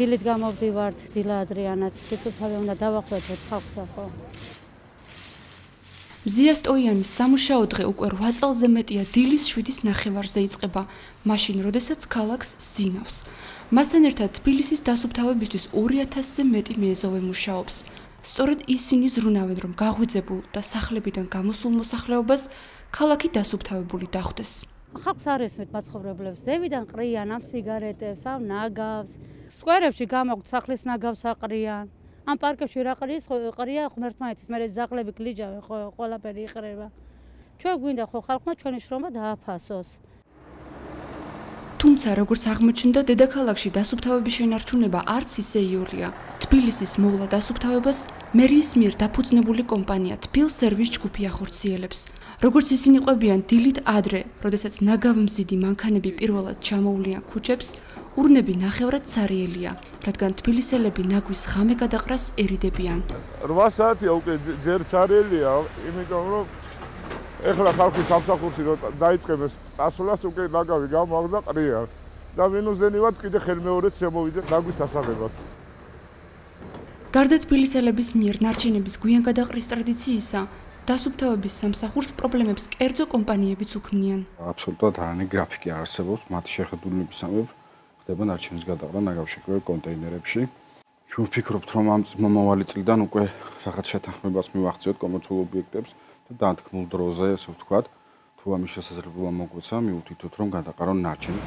დილით გამოვდივართ დილა ადრიანად, სისუფთავე უნდა დავახვედროთ ხალხსა ხო. მზია სტოიანის სამუშაო დღე უკვე 8 წელზე მეტია დილის 7:30-ზე იწყება, მაშინ, როდესაც ქალაქს ზინავს. მასთან ერთად თბილისის დასუფთავებისთვის 2000-ზე მეტი მეზოვე მუშაობს. სწორედ ისინი ზრუნავენ, რომ გაღვიძებულ და სახლებიდან გამოსულ მოსახლეობას ქალაქი დასუფთავებული დახვდეს. ხალხს არ ესმით მაცხოვრებლებს, ზევიდან ყრიან ამ სიგარეტებს, ამ ნაგავს, სკვერებში გამოგვთ სახლის ნაგავს აყრიან. ამ პარკებში რა ყრია ღმერთმაეთის, მე ზაღლები გლიჯავენ, ყველაფერი იყრება. ჩვენ გვინდა ხო ხალხმა ჩვენი შრომა დააფასოს. თუმცა, როგორც აღმოჩნდა, დედაქალაქში დასუფთავების შენარჩუნება არც ისე იოლია. თბილისის მოვლა დასუფთავებას მერიის მიერ დაფუძნებული კომპანია თბილ სერვის ჯგუფი ახორციელებს. როგორც ისინი ყვებიან დილით ადრე, როდესაც ნაგავმზიდი მანქანები პირველად ჩამოვლიან ქუჩებს, ურნები ნახევრად ცარიელია, რადგან თბილისელები ნაგვის ღამე გადაყრას ერიდებიან. 8 საათია უკვე ჯერ ცარიელია, იმიტომ რომ ეხლა ხალხი სამსახურში რომ დაიწყებს წასვლას უკვე ნაგავი გამოაგდა ყრია და მინუსდენივად კიდე ხელმეორეც შემოვიდა ნაგვის ასაღებად. გარდა თბილისელების მიერ ნარჩენების გვიან გადაყრის ტრადიციისა, დასუფთავების სამსახურს პრობლემებს კერძო კომპანიებიც უქმნიან. აბსოლუტურად არანაირი გრაფიკი არ არსებობს, მათი შეხედულებისამებრ ხდება ნარჩენის გადაყრა ნაგავშეკვე კონტეინერებში. ჩვენ ვფიქრობთ, რომ ამ მომავალი წლიდან უკვე რაღაც შეთანხმებას მივახციოთ კომერციულ ობიექტებს და დათქმულ დროზე, ასე ვთქვათ, თუ ამის შესაძლებლობა მოგვეცა, მივუთითოთ, რომ გადაყარონ ნარჩენი.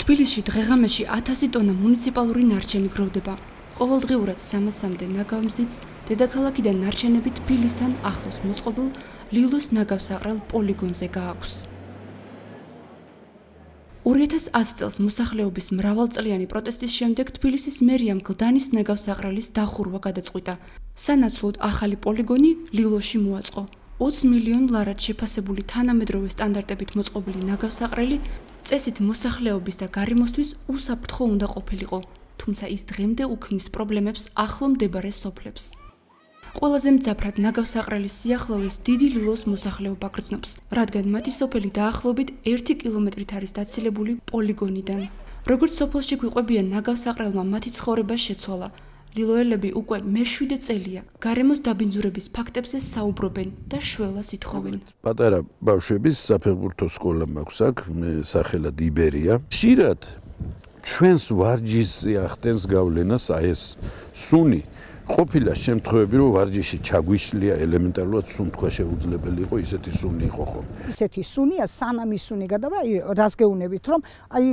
თბილისში დღეღამეში 1000 ტონა მუნიციპალური ნარჩენი გროვდება. ყოველდღიურად 300-მდე ნაგავმზიდს დედაქალაქიდან ნარჩენები თბილისთან ახლოს მოწყობილ ლილოს ნაგავსაყრელ პოლიგონზე გააქვს. 2010 წელს მოსახლეობის მრავალწლიანი პროტესტის შემდეგ თბილისის მერიამ გლდანის ნაგავსაყრელის დახურვა გადაწყვიტა. სანაცვლოდ ახალი პოლიგონი ლილოში მოაწყო. 20 მილიონ ლარად შეფასებული თანამედროვე სტანდარტებით მოწყობილი ნაგავსაყრელი წესით მოსახლეობის და გარემოსთვის უსაფრთხო უნდა ყოფილიყო. თუმცა ის დღემდე უქმნის პრობლემებს ახლო მდებარე სოფლებს. ყველაზე მძაფრად ნაგავსაყრელის სიახლოვეს დიდი ლილოს მოსახლეობა გრძნობს, რადგან მათი სოფელი დაახლოებით 1 კილომეტრით არის დაცილებული პოლიგონიდან. როგორც სოფელში გვიყვებიან, ნაგავსაყრელმა მათი ცხოვრება შეცვალა. ლილოელები უკვე მე-7 წელია გარემოს დაბინძურების ფაქტებზე საუბრობენ და შველას ითხოვენ. პატარა ბავშვების საფეხბურთო სკოლა მაქვს აქ, სახელად იბერია. ხშირად ჩვენს ვარჯიშზე ახდენს გავლენას აი ეს სუნი. ყოფილა შემთხვევები, რომ ვარჯიში ჩაგვიშლია ელემენტარულად სუნთქვა შეუძლებელი იყო, ისეთი სუნი იყო ხო? ისეთი სუნია, სანამ ის სუნი გადავა, აი რას გეუბნებით, რომ აი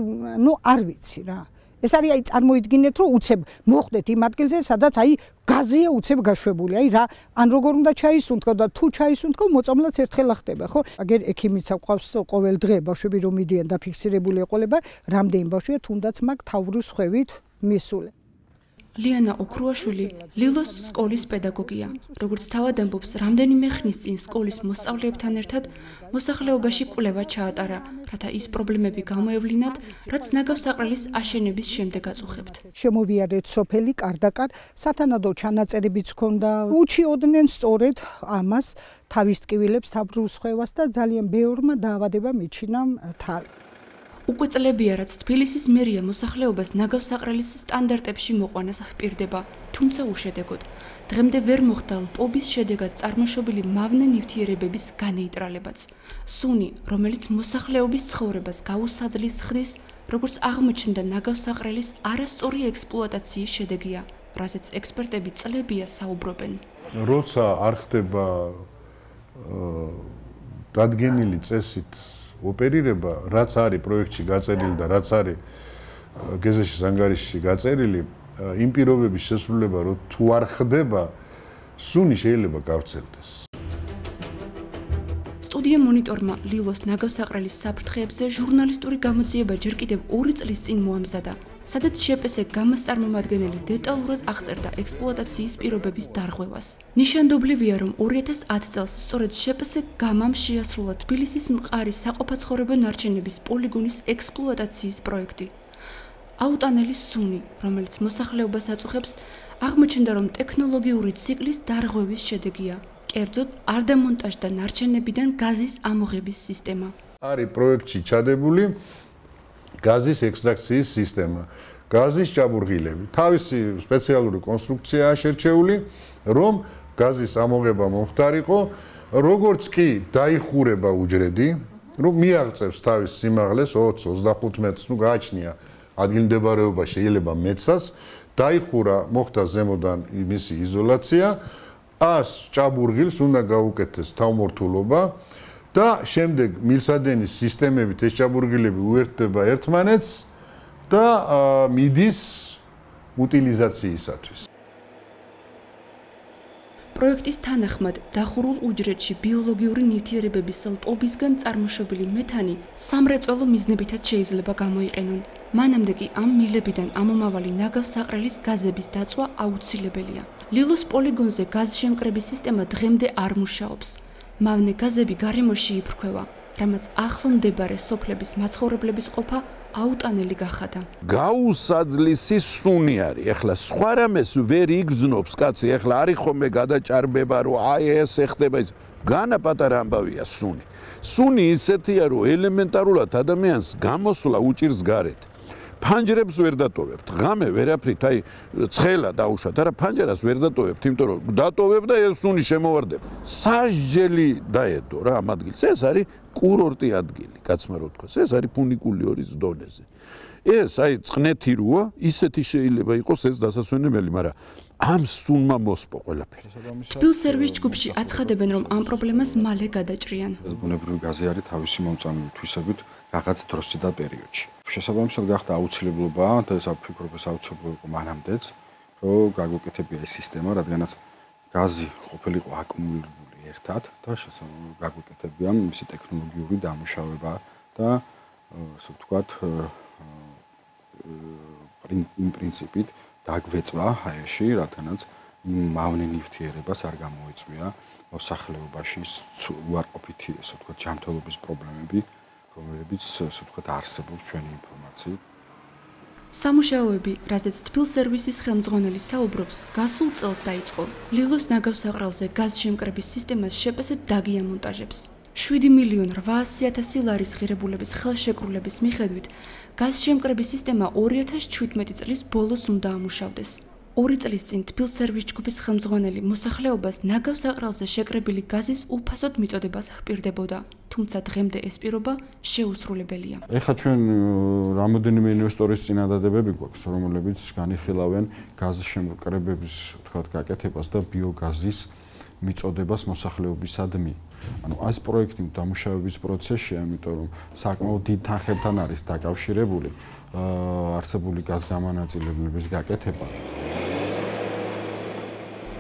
არ ვიცი რა. ეს არის აი წარმოიდგინეთ, რომ უცებ მოხდეთ იმ ადგილზე, სადაც აი გაზია უცებ გაშვებული, აი რა, ან როგორ უნდა ჩაისუნთქო და თუ ჩაისუნთქო, მოწამლაც ერთხელა ხდება, ხო? აგერ ექიმიცა ყავს ყოველ დღე ბავშვები რომ მიდიან და ფიქსირებული ეყოლება, რამდენი ბავშვია თუნდაც მაგ თავრუს ხვევით მისული. ლიანა ოქრუაშვილი ლილოს სკოლის პედაგოგია. როგორც თავად ამბობს, რამდენიმე ხნის წინ სკოლის მოსწავლეებთან ერთად მოსახლეობაში კვლევა ჩაატარა, რათა ის პრობლემები გამოევლინათ, რაც ნაგავსაყრელის აშენების შემდეგ აწუხებთ. შემოვიარეთ სოფელი კარდაკარ, სათანადო ჩანაწერებიც ჰქონდა. უჩიოდნენ სწორედ ამას, თავის ტკივილებს, თავრუს ხვევას და ძალიან ბევრმა დაავადება მიჩინა თავი. უკვე წლებია, რაც თბილისის მერია მოსახლეობას ნაგავსაყრელის სტანდარტებში მოყვანას ჰპირდება, თუმცა უშედეგოდ. დღემდე ვერ მოხდა ლპობის შედეგად წარმოშობილი მავნე ნივთიერებების განეიტრალებაც. სუნი, რომელიც მოსახლეობის ცხოვრებას გაუსაძლის ხდის, როგორც აღმოჩნდა ნაგავსაყრელის არასწორი ექსპლუატაციის შედეგია, რაზეც ექსპერტები წლებია საუბრობენ. როცა არ ხდება დადგენილი წესით ოპერირება, რაც არის პროექტში გაწერილი და რაც არის გეზეშის ანგარიშში გაწერილი, იმ პირობების შესრულება, რომ თუ არ ხდება, სუნი შეიძლება გავრცელდეს. სტუდია მონიტორმა ლილოს ნაგავსაყრელის საფრთხეებზე ჟურნალისტური გამოძიება ჯერ კიდევ 2 წლის წინ მოამზადა, სადაც შეპესე გამოსწარმომადგენელი დეტალურად აღწერდა ექსპლუატაციის პირობების დარღვევას. ნიშანდობლივია, რომ 2010 წელს სწორედ შეპესე გამამ შეასრულა თბილისის მყარი საყოფაცხოვრებო ნარჩენების პოლიგონის ექსპლუატაციის პროექტი. აუტანელი სუნი, რომელიც მოსახლეობას აწუხებს, აღმოჩნდა, რომ ტექნოლოგიური ციკლის დარღვევის შედეგია. კერძოდ, არ დამონტაჟდა ნარჩენებიდან გაზის ამოღების სისტემა. არის პროექტში ჩადებული გაზის ექსტრაქციის სისტემა. გაზის ჭაბურღილები. თავისი სპეციალური კონსტრუქციაა შერჩეული, რომ გაზის ამოღება მომხდარიყო, როგორც კი დაიხურება უჯრედი, რომ მიაღწევს თავის სიმაღლეს 20-25 მეტრს, ნუ გააჩნია ადგილმდებარეობა შეიძლება მეცაც, დაიხურა, მოხდა ზემოდან მისი იზოლაცია, 100 ჭაბურღილს უნდა გაუკეთეს თავმორთულობა და შემდეგ მილსადენის სისტემებით ეს ჭაბურღილები უერთდება ერთმანეთს და მიდის უტილიზაციისათვის. პროექტის თანახმად დახურულ უჯრედში ბიოლოგიური ნივთიერებების ლპობისგან წარმოშობილი მეთანი სამრეწველო მიზნებითაც შეიძლება გამოიყენონ. მანამდე კი ამ მილებიდან ამომავალი ნაგავსაყრელის გაზების დაწვა აუცილებელია. ლილოს პოლიგონზე გაზშემკრების სისტემა დღემდე არ მუშაობს. მავნე გაზები გარემოში იფრქვევა, რამაც ახლო მდებარე სოფლების მაცხოვრებლების ყოფა აუტანელი გახადა. გაუსაძლისი სუნი არის. ეხლა სხვა რამეს ვერ იგრძნობს კაცი. ეხლა არის ხომე გადაჭარბება, რომ აი ეს ეხდება ის. განა პატარა ამბავია სუნი. სუნი ისეთია, რომ ელემენტარულად ადამიანს გამოსვლა უჭირს გარეთ. ფანჯრებს ვერ დატოვებთ. ღამე ვერაფრით, აი ცხელა დაუშვათ, არა ფანჯრას ვერ დატოვებთ, იმიტომ რომ დატოვებ და ეს სუნი შემოვარდება. სასჯელი დაედო რა ამ ადგილს. ეს არის კურორტი ადგილი, კაცმა რო თქვას. ეს არის ფუნიკულიორის დონეზე. ეს აი წყნეთი როა, ისეთი შეიძლება იყოს ეს დასასვენებელი, მაგრამ ამ სუნმა მოსპო ყველაფერი. თბილ სერვის ჯგუფში აცხადებენ, რომ ამ პრობლემას მალე გადაჭრიან. ეს ბუნებრივი გაზი არის თავისი მომწამული თვისებით რაღაც დროსი და პერიოდში. შესაბამისად გახდა აუცილებლობა და ეს ვფიქრობ ეს აუცილებლობა იყო მანამდეც, რომ გაგვეკეთებია ეს სისტემა, რადგანაც გაზი ყოფილიყო აკუმულირებული ერთად და გაგვეკეთებია მისი ტექნოლოგიური დამუშავება და ასე ვთქვათ პრინციპით დაგვეწვა ჰაერში, რადგანაც მავნე ნივთიერებას არ გამოიწვია მოსახლეობაში უარყოფითი ასე ვთქვათ ჯანმრთელობის პრობლემები, რომლებიც ასე ვთქვათ არსებობს ჩვენი ინფორმაციით. სამუშაოები, რაზეც თბილ სერვისის ხელმძღვანელი საუბრობს, გასულ წელს დაიწყო. ლილოს ნაგავსაყრელზე გაზშემკრების სისტემას შეპასეთ დაგიამონტაჟებს. 7.800.000 ლარის ღირებულების ხელშეკრულების მიხედვით, გაზშემკრების სისტემა 2017 წლის ბოლოს უნდა ამუშავდეს. 2 წლის წინ თბილ სერვის ჯგუფის ხელმძღვანელი მოსახლეობას ნაგავსაყრელზე შეკრებილი გაზის უფასოდ მიწოდებას ჰპირდებოდა, თუმცა დღემდე ეს პირობა შეუსრულებელია. ეხლა ჩვენ რამოდენიმე ინვესტორის წინადადებები გვაქვს, რომლებიც განიხილავენ გაზის შემკრებების, ვთქვათ, გაკეთებას და ბიოგაზის მიწოდებას მოსახლეობისადმი. ანუ ეს პროექტი დამუშავების პროცესშია, იმიტომ რომ საკმაოდ დიდ თანხებთან არის დაკავშირებული არსებული გაზგამანაწილებლების გაკეთება.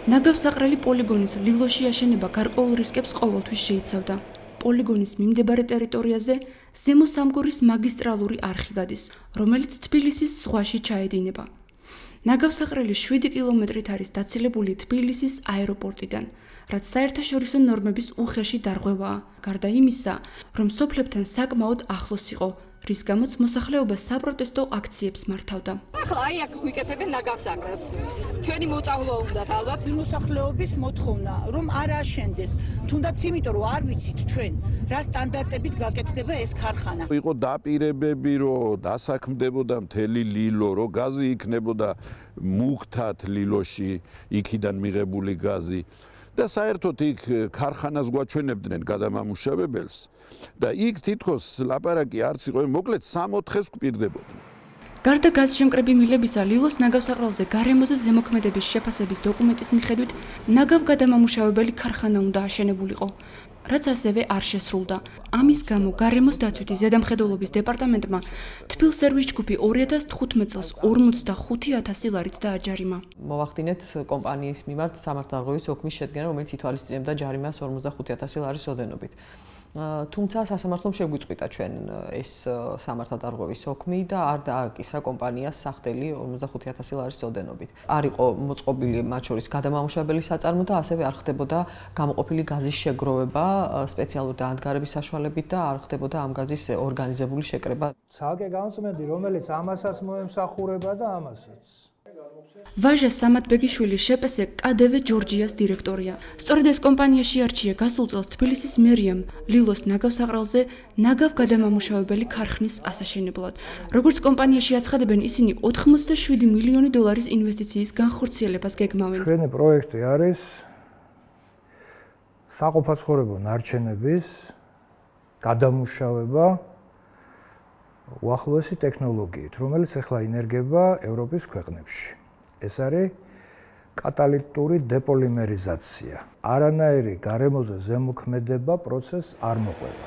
ნაგავსაყრელი პოლიგონის ლილოში აშენება გარკვეულ რისკებს ყოველთვის შეიცავდა. პოლიგონის მიმდებარე ტერიტორიაზე ზემო სამგორის მაგისტრალური არხი გადის, რომელიც თბილისის ზღვაში ჩაედინება. ნაგავსაყრელი 7 კილომეტრით არის დაცილებული თბილისის აეროპორტიდან, რაც საერთაშორისო ნორმების უხეში დარღვევაა, გარდა იმისა, რომ სოფლებთან საკმაოდ ახლოს იყო, რის გამოც მოსახლეობა საპროტესტო აქციებს მართავდა. ახლა აი აქ ვიკეთებენ ნაგავსაყრელს. ჩვენი მოწავლო უნდათ ალბათ მოსახლეობის მოთხოვნა, რომ არ აშენდეს, თუნდაც იმიტომ რომ არ ვიცით ჩვენ რა სტანდარტებით გაკეთდება ეს ქარხანა. იყო დაპირებები, რომ დასაქმდებოდა მთელი ლილო, რომ გაზი იქნებოდა მუქთად ლილოში, იქიდან მიღებული გაზი. და საერთოდ იქ ქარხანას გვაჩვენებდნენ გადამამუშავებელს და იქ თითქოს ლაპარაკი არც იყო, მოკლედ 6-4-ს გვპირდებოდნენ. გარდა გაზშემკრები მილებისა, ლილოს ნაგავსაყრელზე გარემოზე ზემოქმედების შეფასების დოკუმენტის მიხედვით, ნაგავგადამამუშავებელი ქარხანა უნდა აშენებულიყო, რაც ასევე არ შესრულდა. ამის გამო გარემოს დაცვითი ზედამხედველობის დეპარტამენტმა თბილ სერვის ჯგუფი 2015 წელს 45.000 ლარით დააჯარიმა. მოვახდინეთ კომპანიის მიმართ სამართალდაღობის ოქმის შედგენა, რომელიც ითვალისწინებდა ჯარიმას 45.000 ლარის ოდენობით. თუმცა სასამართლომ შეგვიწყვიტა ჩვენ ეს სამართალდაღობის ოქმი და არ დააკისრა კომპანიას სახდელი 45.000 ლარის ოდენობით. არ იყო მოწყობილი მათ შორის გადამამუშავებელი საწარმო და ასევე არ ხდებოდა გამოყოფილი გაზის შეგროვება სპეციალური დაანდგარების საშუალებით და არ ხდებოდა ამ გაზის ორგანიზებული შეკრება. ცალკე განწმენდი, რომელიც ამასაც მოემსახურება და ამასაც. ვაჟა სამათბეგიშვილი შეპესე KDV ჯორჯიას დირექტორია. სწორედ ეს კომპანიაში არჩია გასულ წელს თბილისის მერიამ ლილოს ნაგავსაყრელზე ნაგავ გადამამუშავებელი ქარხნის ასაშენებლად. როგორც კომპანიაში აცხადებენ, ისინი 87 მილიონი დოლარის ინვესტიციის განხორციელებას გეგმავენ. ჩვენი პროექტი არის საყოფაცხოვრებო ნარჩენების გადამუშავება უახლოესი ტექნოლოგიით, რომელიც ახლა ინერგება ევროპის ქვეყნებში. ეს არის კატალიტური დეპოლიმერიზაცია. არანაირი გარემოზე ზემოქმედება პროცესს არ მოყვება.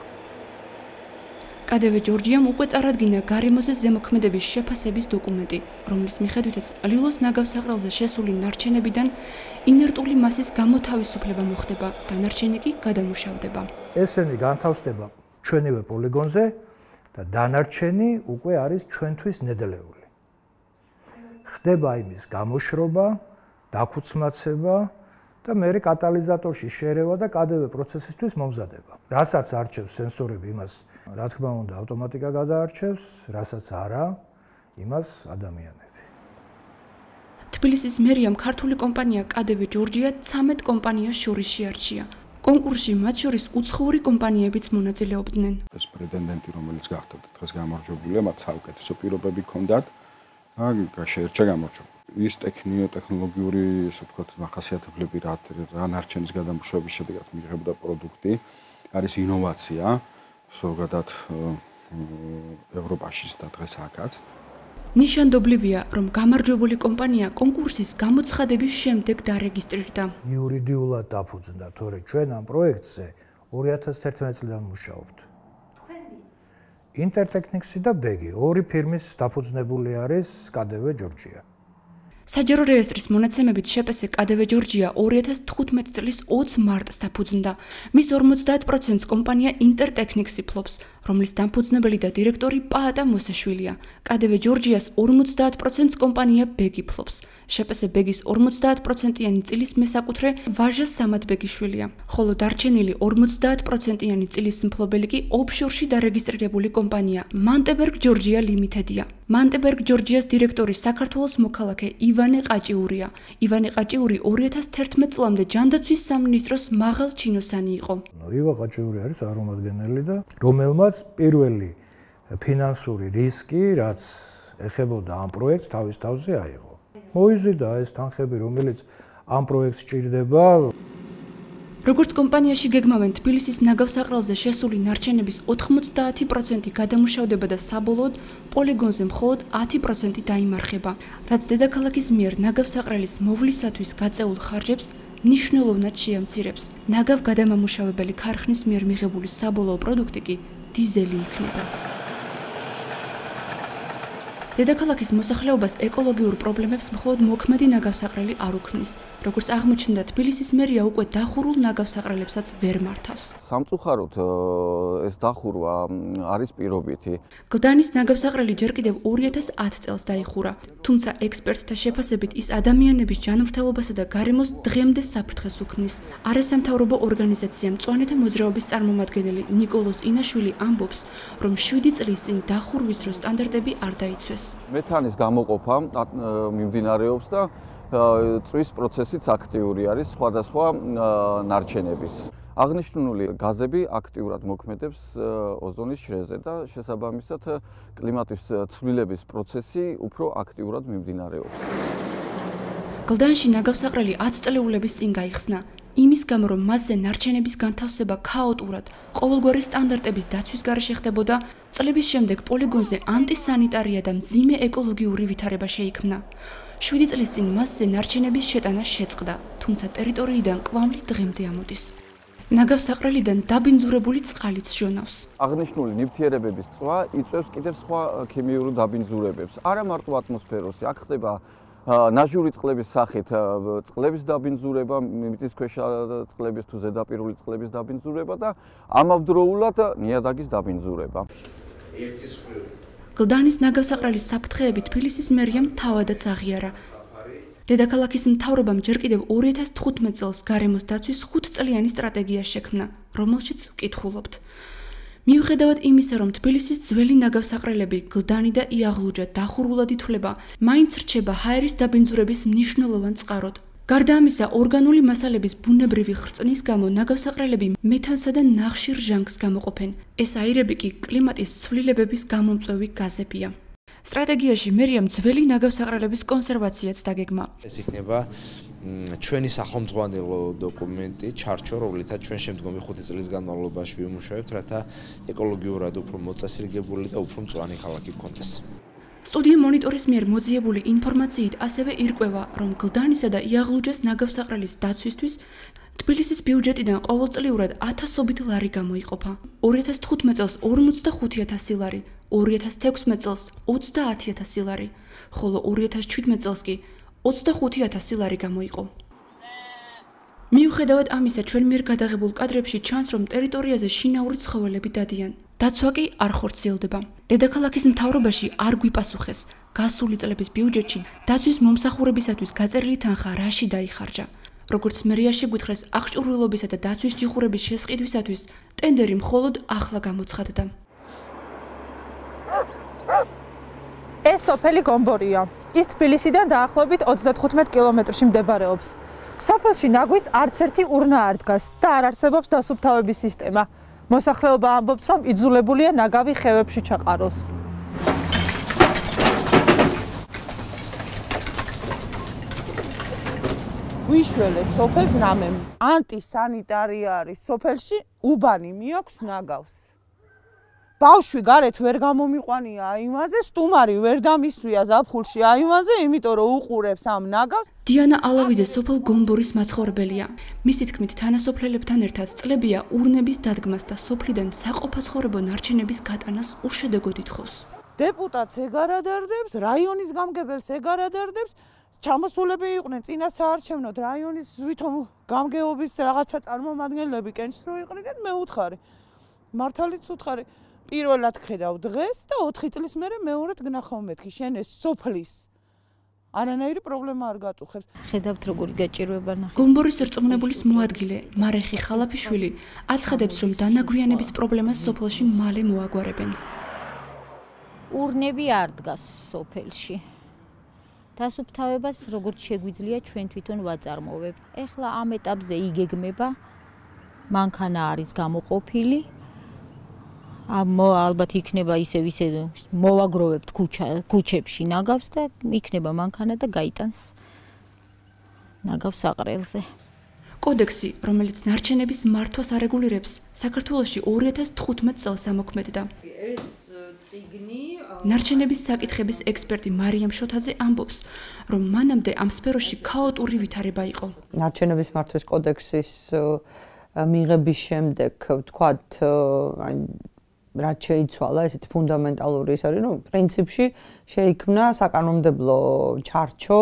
KDV ჯორჯიამ უკვე წარადგინა გარემოზე ზემოქმედების შეფასების დოკუმენტი, რომლის მიხედვითაც ლილოს ნაგავსაყრელზე შესული ნარჩენებიდან ინერტული მასის გამოთავისუფლება მოხდება, დანარჩენი კი გადამუშავდება. ესენი განთავსდება ჩვენივე პოლიგონზე და დანარჩენი უკვე არის ჩვენთვის ნედლეული. ხდება იმის გამოშრობა, დაქუცმაცება და მეორე კატალიზატორში შერევა და KDV პროცესისთვის მომზადება. რასაც არჩევს სენსორები, იმას რა თქმა უნდა ავტომატიკა გადაარჩევს, რასაც არა, იმას ადამიანები. თბილისის მერიამ ქართული კომპანია KDV ჯორჯია 13 კომპანიას შორის შეარჩია. კონკურსში მათ შორის უცხოური კომპანიებიც მონაწილეობდნენ. ეს პრეტენდენტი, რომელიც გახდა დღეს გამარჯვებულია, მათ საუკეთესო პირობები ჰქონდათ. შეერჩა გამარჯვება. ის ტექნოლოგიური, ასე ვთქვათ, მახასიათებლები რა ნარჩენის გადამუშავების შედეგად მიღებდა პროდუქტი, არის ინოვაცია, ზოგადად ევროპაშიც და დღეს აქაც. ნიშანდობლივია, რომ გამარჯვებული კომპანია კონკურსის გამოცხადების შემდეგ დარეგისტრირდა. იურიდიულად დაფუძნდა, თორე ჩვენ ამ პროექტზე 2011 წლიდან მუშაობთ. ინტერტექნიქსი და ბეგი, ორი ფირმის დაფუძნებული არის KDV ჯორჯია. საჯარო რეესტრის მონაცემებით შეპესე KDV ჯორჯია 2015 წლის 20 მარტს დაფუძნდა. მის 50%-ს კომპანია ინტერტექნიქსი ფლობს, რომლის დამფუძნებელი და დირექტორი პაატა მოსაშვილია. KDV ჯორჯიას 50%-ს კომპანია ბეგი ფლობს. შეპესე ბეგის 50%-იანი წილის მესაკუთრე ვაჟა სამათბეგიშვილია, ხოლო დარჩენილი 50%-იანი წილის მფლობელი კი ოფშორში დარეგისტრირებული კომპანია მანტებერგ ჯორჯია ლიმიტედია. მანტებერგ ჯორჯიას დირექტორი საქართველოს მოქალაქე ივანე ყაჭიურია. ივანე ყაჭიური 2011 წლამდე ჯანდაცვის სამინისტროს მაღალ ჩინოსანი იყო. ივანე ყაჭიური არის წარმომადგენელი და რომელმაც პირველი ფინანსური რისკი, რაც ეხებოდა ამ პროექტს, თავის თავზე აიღო. მოიზიდა ეს თანხები, რომელიც ამ პროექტს ჭირდება. როგორც კომპანიაში გეგმავენ, თბილისის ნაგავსაყრელზე შესული ნარჩენების 90% გადამუშავდება და საბოლოოდ პოლიგონზე მხოლოდ 10% დაიმარხება, რაც დედაქალაქის მიერ ნაგავსაყრელის მოვლისათვის გაწეულ ხარჯებს მნიშვნელოვნად შეამცირებს. ნაგავ გადამამუშავებელი ქარხნის მიერ მიღებული საბოლოო პროდუქტი კი დიზელი იქნება. დედაქალაქის მოსახლეობას ეკოლოგიურ პრობლემებს მხოლოდ მოქმედი ნაგავსაყრელი არ უქმნის. როგორც აღმოჩნდა, თბილისის მერია უკვე დახურულ ნაგავსაყრელებსაც ვერ მართავს. სამწუხაროდ ეს დახურვა არის პირობითი. გლდანის ნაგავსაყრელი ჯერ კიდევ 2010 წელს დაიხურა, თუმცა ექსპერტთა შეფასებით ის ადამიანების ჯანმრთელობასა და გარემოს დღემდე საფრთხეს უქმნის. არასამთავრობო ორგანიზაცია მწვანეთა მოძრაობის წარმომადგენელი ნიკოლოზ ინაშვილი ამბობს, რომ 7 წლის წინ დახურვის დროს სტანდარტები არ დაიცვეს. მეთანის გამოყოფა მიმდინარეობს და წვის პროცესიც აქტიური არის სხვადასხვა ნარჩენების. აღნიშნული გაზები აქტიურად მოქმედებს ოზონის შრეზე და შესაბამისად კლიმატის ცვლილების პროცესი უფრო აქტიურად მიმდინარეობს. გლდანში ნაგავსაყრელი 10 წლეულების წინ გაიხსნა. იმის გამო, რომ მასზე ნარჩენების განთავსება ქაოტურად, ყოველგვარი სტანდარტების დაცვის გარეშე ხდებოდა, წლების შემდეგ პოლიგონზე ანტისანიტარია და მძიმე ეკოლოგიური ვითარება შეიქმნა. 7 წლის წინ მასზე ნარჩენების შეტანა შეწყდა, თუმცა ტერიტორიიდან კვამლი დღემდე ამოდის. ნაგავსაყრელიდან დაბინძურებული წყალიც ჟონავს. აღნიშნული ნივთიერებების წვა იწვევს კიდევ სხვა ქიმიური დაბინძურებებს. არა მარტო ატმოსფეროში, აქ ხდება ნაჟური წყლების სახით წყლების დაბინძურება, მიწისქვეშა წყლების თუ ზედაპირული წყლების დაბინძურება და ამავდროულად ნიადაგის დაბინძურება. გლდანის ნაგავსაყრელის საფრთხეები თბილისის მერიამ თავადაც აღიარა. დედაქალაქის მთავრობამ ჯერ კიდევ 2015 წელს გარემოს დაცვის 5 წლიანი სტრატეგია შექმნა, რომელშიც ვკითხულობთ. მიუხედავად იმისა, რომ თბილისის ძველი ნაგავსაყრელები გლდანი და იაღლუჯა დახურულად ითვლება, მაინც რჩება ჰაერის დაბინძურების მნიშვნელოვან წყაროდ. გარდა ამისა, ორგანული მასალების ბუნებრივი ხრწნის გამო ნაგავსაყრელები მეთანსა და ნახშირ ჟანგს გამოყოფენ. ეს აირები კი კლიმატის ცვლილებების გამომწვევი გაზებია. სტრატეგიაში მერიამ ძველი ნაგავსაყრელების კონსერვაციაც დაგეგმა. ეს იქნება ჩვენი სახელმძღვანელო დოკუმენტი, ჩარჩო, რომლითაც ჩვენ შემდგომი 5 წლის განმავლობაში ვიმუშავებთ, რათა ეკოლოგიურად უფრო მოწესრიგებული და უფრო მწვანე ქალაქი გქონდეს. სტუდია მონიტორის მიერ მოძიებული ინფორმაციით ასევე ირკვევა, რომ გლდანისა და იაღლუჯას ნაგავსაყრელის დაცვისთვის თბილისის ბიუჯეტიდან ყოველწლიურად 1000-ობით ლარი გამოიყოფა. 2015 წელს 45.000 ლარი, 2016 წელს 30.000 ლარი, ხოლო 2017 წელს კი 25.000 ლარი გამოიყო. მიუხედავად ამისა, ჩვენ მიერ გადაღებულ კადრებში ჩანს, რომ ტერიტორიაზე შინაური ცხოველები დადიან. დაცვა კი არ ხორციელდება. დედაქალაქის მთავრობაში არ გვიპასუხეს, გასული წლების ბიუჯეტში დაცვის მომსახურებისათვის გაწერილი თანხა რაში დაიხარჯა. როგორც მერიაში გვითხრეს, აღჭურვილობისა და დაცვის ჯიხურების შესყიდვისათვის ტენდერი მხოლოდ ახლა გამოცხადდა. ეს სოფელი გომბორია. ის თბილისიდან დაახლოებით 35 კილომეტრში მდებარეობს. სოფელში ნაგვის არც ერთი ურნა არ დგას და არ არსებობს დასუფთავების სისტემა. მოსახლეობა ამბობს, რომ იძულებულია ნაგავი ხევებში ჩაყაროს. ვიშველეთ სოფელს რამემ. ანტისანიტარია არის სოფელში, უბანი მიაქვს ნაგავს. ბავშვი გარეთ ვერ გამომიყვანია აიმაზე, სტუმარი ვერ დამისვია ზაფხულში აიმაზე, იმიტომ რომ უყურებს ამ ნაგავს. დიანა ალავიძე სოფელ გომბორის მაცხოვრებელია. მისი თქმით, თანასოფლელებთან ერთად წლებია ურნების დადგმას და სოფლიდან საყოფაცხოვრებო ნარჩენების გატანას უშედეგოდ ითხოვს. დეპუტატს ეგარადარდებს, რაიონის გამგებელს ეგარადარდებს, ჩამოსულები იყვნენ წინა საარჩევნოდ რაიონის ვითომ გამგეობის რაღაცა წარმომადგენლები კენჭს რო იყრიდნენ, მე უთხარი. მართალიც უთხარი. პირველად ხედავ დღეს და 4 წლის მერე მეორედ გნახავ მეთქი შენ ეს სოფლის არანაირი პრობლემა არ გაწუხებს. ხედავთ როგორი გაჭირვება ნახე. გომბორის რწმუნებულის მოადგილე მარეხი ხალაფიშვილი აცხადებს, რომ დანაგვიანების პრობლემას სოფელში მალე მოაგვარებენ. ურნები არ დგას სოფელში. დასუფთავებას როგორც შეგვიძლია ჩვენ თვითონ ვაწარმოებთ. ეხლა ამ ეტაპზე იგეგმება მანქანა არის გამოყოფილი. ალბათ იქნება ისე მოვაგროვებთ ქუჩებში ნაგავს და იქნება მანქანა და გაიტანს ნაგავს საყრელზე. კოდექსი, რომელიც ნარჩენების მართვას არეგულირებს, საქართველოში 2015 წელს ამოქმედდა. ეს წიგნი ნარჩენების საკითხების ექსპერტი მარიამ შოთაძე ამბობს, რომ მანამდე ამ სფეროში ქაოტური ვითარება იყო. ნარჩენების მართვის კოდექსის მიღების შემდეგ, ვთქვათ, რაც შეიცვალა, ესეთი ფუნდამენტალური ის არის, რომ პრინციპში შეიქმნა საკანონმდებლო ჩარჩო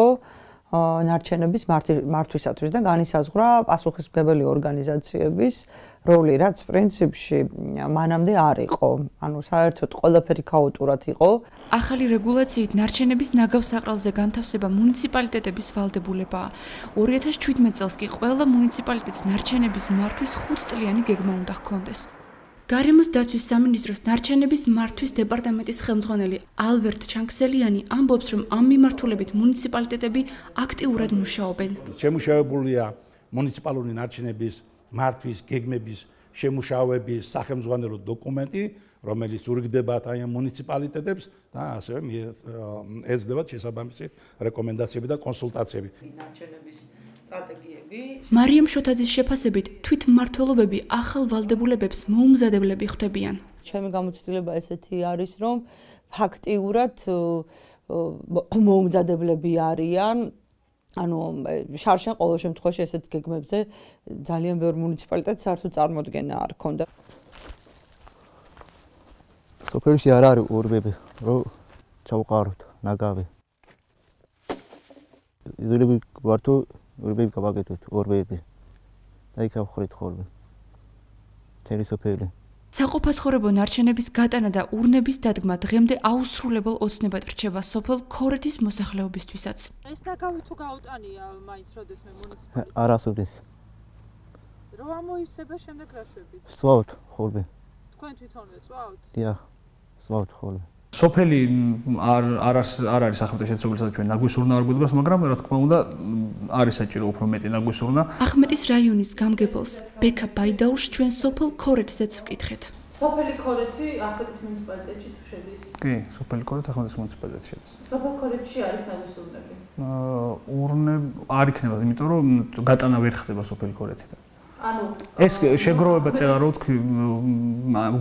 ნარჩენების მართვისათვის და განისაზღვრა პასუხისმგებელი ორგანიზაციების როლი, რაც პრინციპში მანამდე არ იყო. ანუ საერთოდ ყველაფერი ქაოტურად იყო. ახალი რეგულაციით ნარჩენების ნაგავსაყრელზე განთავსება მუნიციპალიტეტების ვალდებულებაა. 2017 წელს კი ყველა მუნიციპალიტეტს ნარჩენების მართვის 5 წლიანი გეგმა უნდა ჰქონდეს. გარემოს დაცვის სამინისტროს ნარჩენების მართვის დეპარტამენტის ხელმძღვანელი ალბერტ ჩანქსელიანი ამბობს, რომ ამ მიმართულებით მუნიციპალიტეტები აქტიურად მუშაობენ. შემუშავებულია მუნიციპალური ნარჩენების მართვის გეგმების შემუშავების სახელმძღვანელო დოკუმენტი, რომელიც ურიგდება ამ მუნიციპალიტეტებს და ასევე ეძლებათ შესაბამისი რეკომენდაციები და კონსულტაციები. ნარჩენების სტრატეგიები. მარიამ შოთაძის შეფასებით, თვითმმართველობები ახალ ვალდებულებებს მოუმზადებლები ხვდებიან. ჩემი გამოცდილება ესეთი არის, რომ ფაქტიურად მოუმზადებლები არიან. ანუ შარშან ყოველ შემთხვევაში ესეთ გეგმებზე ძალიან ბევრ მუნიციპალიტეტს საერთოდ წარმოდგენა არ ქონდა. სოფელში არ არის ურბები, რომ ჩავყაროთ ნაგავი. იზოლები ვართო ურბები გავაკეთოთ, ურბები. და იქ ავხრით ხოლმე. თერი სოფელი. საყოფაცხოვრებო ნარჩენების გატანა და ურნების დადგმა დღემდე აუსრულებელ ოცნებად რჩება სოფელ ქორეთის მოსახლეობისთვისაც. ეს ნაგავი თუ გაუტანია მაინც როდესმე მუნიციპალიტეტს? არასოდეს. რო ამოივსება შემდეგ რა შვებით? სწავთ ხოლმე. თქვენ თვითონ ეწვავთ? დიახ, ვწვავთ ხოლმე. სოფელი არ არის ახმეტის შეცდომისაც ჩვენ ნაგვისურნა არ გვიდგას, მაგრამ რა თქმა უნდა არის საჭირო უფრო მეტი ნაგვისურნა. ახმეტის რაიონის გამგებელს ბექა ბაიდაურს ჩვენ სოფელ ქორეთზეც ვკითხეთ. სოფელი ქორეთი ახმეტის მუნიციპალიტეტში თუ შედის? კი, სოფელი ქორეთი ახმეტის მუნიციპალიტეტში შედის. სოფელ ქორეთში არის ნაგვისურნები? ურნები არ იქნება, იმიტომ რომ გატანა ვერ ხდება სოფელი ქორეთიდან. ანუ ეს შეგროვება წერა რო თქვი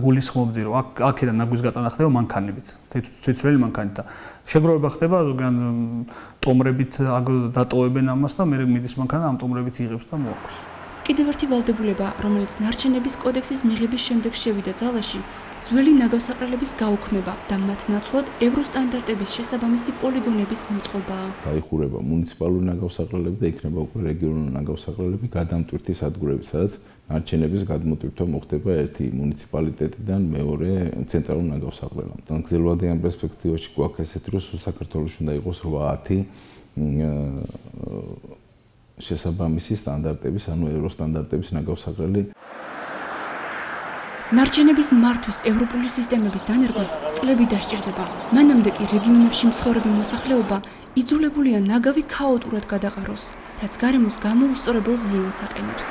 გულისხმობდი რომ აქედან ნაგვის გატანა ხდება მანქანებით თეთრელი მანქანით და შეგროვება ხდება ზოგან ტომრებით დატოვებენ ამას და მე მიდის მანქანა ამ ტომრებით იღებს და მოაქვს. კიდევ ერთი ვალდებულება, რომელიც ნარჩენების კოდექსის მიღების შემდეგ შევიდა ძალაში, ძველი ნაგავსაყრელების გაუქმება და მათ ნაცვლად ევროსტანდარტების შესაბამისი პოლიგონების მოწყობაა. დაიხურება მუნიციპალური ნაგავსაყრელები და იქნება უკვე რეგიონალური ნაგავსაყრელები გადამტვირთი სადგურები, სადაც ნარჩენების გადმოტვირთვა მოხდება ერთი მუნიციპალიტეტიდან მეორე ცენტრალურ ნაგავსაყრელამდე. გრძელვადიან პერსპექტივაში გვაქვს ესეთი, რომ საქართველოში უნდა იყოს 8-10 შესაბამისი სტანდარტების, ანუ ევროსტანდარტების ნაგავსაყრელი. ნარჩენების მართვის ევროპული სისტემების დანერგვას წლები დასჭირდება. მანამდე კი რეგიონებში მცხოვრები მოსახლეობა იძულებულია ნაგავი ქაოტურად გადაყაროს, რაც გარემოს გამოუსწორებელ ზიანს აყენებს.